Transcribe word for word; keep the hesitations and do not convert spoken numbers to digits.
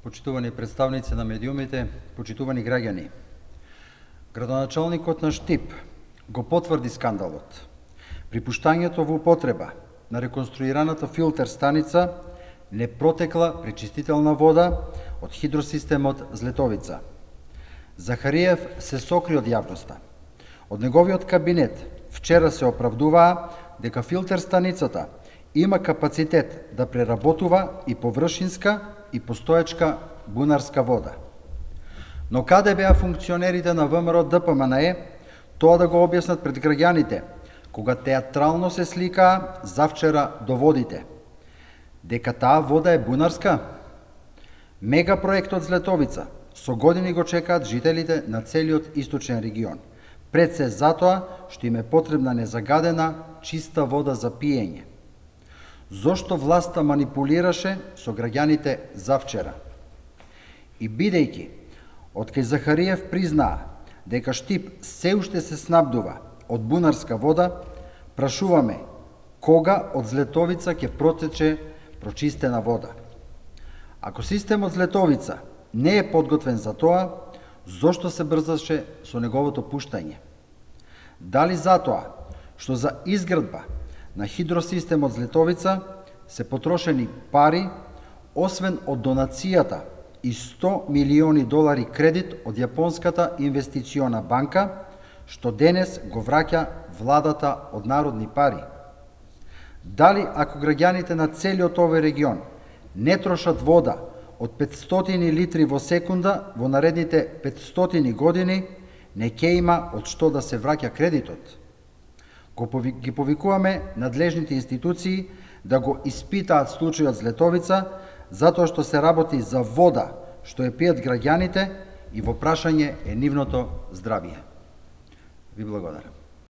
почитувани представници на медиумите, почитувани граѓани. Градоначалникот на Штип го потврди скандалот. При пуштањето во употреба на реконструираната филтер станица не протекла пречистителна вода од хидросистемот Злетовица. Захариев се сокри од јавноста. Од неговиот кабинет вчера се оправдуваа дека филтер станицата има капацитет да преработува и површинска и постоечка бунарска вода. Но каде беа функционерите на ВМРО Д П М Н Е тоа да го објаснат пред граѓаните, кога театрално се сликаа завчера до водите? Дека таа вода е бунарска? Мегапроектот Злетовица со години го чекаат жителите на целиот источен регион. Пред се затоа што им е потребна незагадена, чиста вода за пиење. Зошто власта манипулираше со граѓаните завчера? И бидејќи откај Захариев признаа дека Штип се уште се снабдува од бунарска вода, прашуваме кога од Злетовица ќе протече прочистена вода. Ако системот Злетовица не е подготвен за тоа, зошто се брзаше со неговото пуштање? Дали затоа што за изградба на хидросистемот Злетовица се потрошени пари, освен од донацијата и сто милиони долари кредит од Јапонската инвестициона банка, што денес го враќа владата од народни пари? Дали ако граѓаните на целиот овој регион не трошат вода од петстотини литри во секунда во наредните петстотини години, не ќе има од што да се враќа кредитот? Ги повикуваме надлежните институции да го испитаат случајот Злетовица, затоа што се работи за вода што ја пијат граѓаните и во прашање е нивното здравје. Ви благодарам.